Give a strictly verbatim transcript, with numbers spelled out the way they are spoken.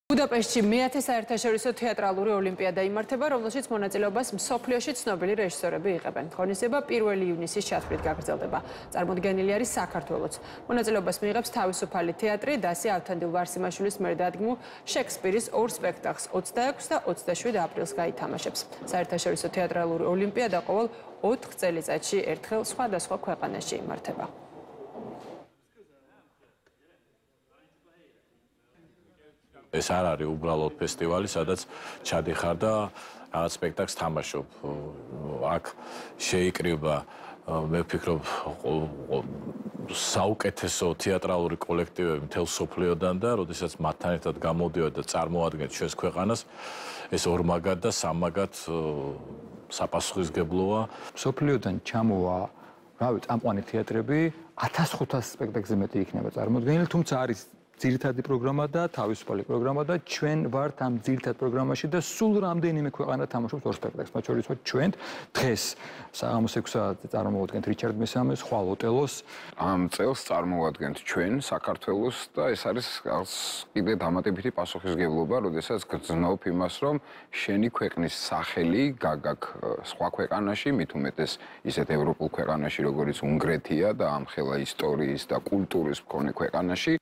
ბუდაპეშტში მეათე საერთაშორისო თეატრალური ოლიმპიადა იმართება, რომელშიც მონაწილეობას მსოფლიოში ცნობილი რეჟისორები იღებენ. ღონისძიება პირველი ივნისის ჩათვლით გაგრძელდება. წარმოდგენილი არის საქართველოც. მონაწილეობას მიიღებს თავისუფალი თეატრი დასი ავთანდილ-ვარსიმაშვილის მიერ დადგმულ შექსპირის ორ სპექტაკლს ოცდაექვსი და ოცდაშვიდი აპრილს გაითამაშებს. საერთაშორისო თეატრალური ოლიმპიადა ყოველ ოთხ წელიწადში ერთხელ სხვადასხვა ქვეყანაში იმართება. ეს არ არის უბრალოდ ფესტივალი, სადაც ჩადიხარ და რაღაც სპექტაკლს თამაშობ. აქ შეიკრიბა, მე ვფიქრობ, საუკეთესო თეატრალური კოლექტივები მთელ მსოფლიოდან და როდესაც მათთან ერთად გამოდიოდი და წარმოადგენთ ჩვენს ქვეყანას, ეს ორმაგად და სამაგად საპასუხისმგებლოა. მსოფლიოდან ჩამოვა, რავი, წამყვანი თეატრები ათას ხუთას სპექტაკლზე მეტი იქნება წარმოდგენილი, თუმცა არის ძირითადი პროგრამა და თავისუფალი პროგრამა და ჩვენ ვართ ამ ძირითად პროგრამაში და სულ რამდენიმე ქვეყანა თამაშობს ორ სპექტაკლს. მათ შორის ვართ ჩვენ დღეს საღამოს ექვსი საათზე წარმოვადგენთ რიჩარდ მესამეს, ხვალ ოტელოს. ამ წელს წარმოვადგენთ ჩვენ საქართველოს და ეს არის კიდე დამატებითი პასუხისმგებლობა, როდესაც გრძნობ იმას, რომ შენი ქვეყნის სახელი გაგაკ სხვა ქვეყანაში, მით უმეტეს ისეთ ევროპულ ქვეყანაში, როგორიც უნგრეთია და ამხელა ისტორიის და კულტურის მქონე ქვეყანაში.